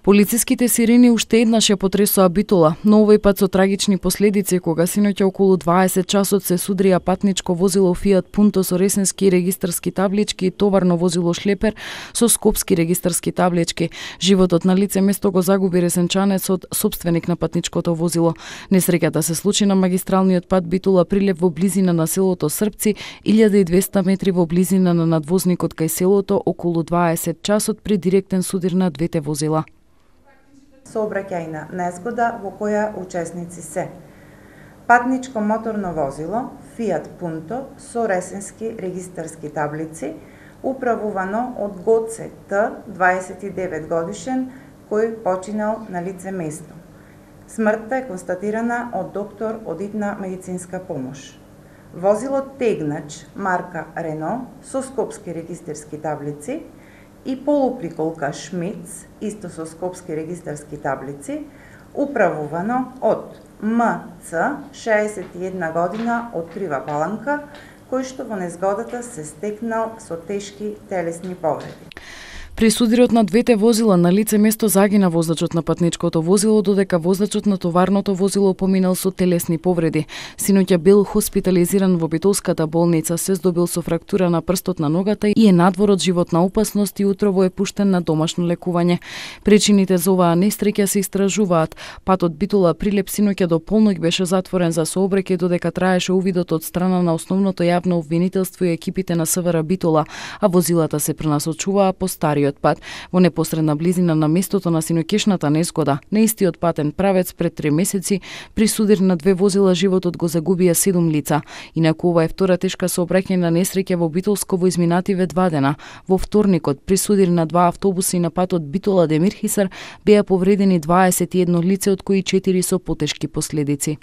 Полициските сирени уште еднаш ја потресоа Битола, но овој пат со трагични последици кога синоќа околу 20 часот се судрија патничко возило Fiat Punto со ресенски регистарски таблички и товарно возило шлепер со скопски регистарски таблички. Животот на лице место го загуби ресенчанецот, собственик на патничкото возило. Несреќата се случи на магистралниот пат Битола Прилеп во близина на селото Српци, 1200 метри во близина на надвозникот кај селото, околу 20 часот при директен судир на двете возила. Сообраќајна незгода во која учесници се патничко моторно возило Fiat Punto со ресенски регистарски таблици, управувано од Гоце Т, 29 годишен, кој починал на лице место. Смртта е констатирана од доктор од итна медицинска помош. Возило тегнач марка Рено со скопски регистарски таблици и полуприколка Шмиц, исто со скопски регистарски таблици, управувано од МЦ, 61 година, од Крива Паланка, кој што во незгодата се стекнал со тешки телесни повреди. При судирот на двете возила на лице место загина возачот на патничкото возило, додека возачот на товарното возило поминал со телесни повреди. Синоќа бил хоспитализиран во Битолската болница, се здобил со фрактура на прстот на ногата и е надвор од животна опасност и утрово е пуштен на домашно лекување. Причините за оваа несреќа се истражуваат. Патот Битола Прилеп синоќа до полноќ беше затворен за сообраќај додека траеше увидот од страна на основното јавно обвинителство и екипите на СВР Битола, а возилата се пренасочуваа по стариот пат во непосредна близина на местото на синоќешната незгода. На истиот патен правец пред 3 месеци при судир на две возила животот го загубија 7 лица. Инаку ова е втора тешка сообраќајна несреќа во Битолско во изминативе 2 дена. Во вторникот при судир на 2 автобуси на патот Битола Демирхисар беа повредени 21 лице, од кои 4 со потешки последици.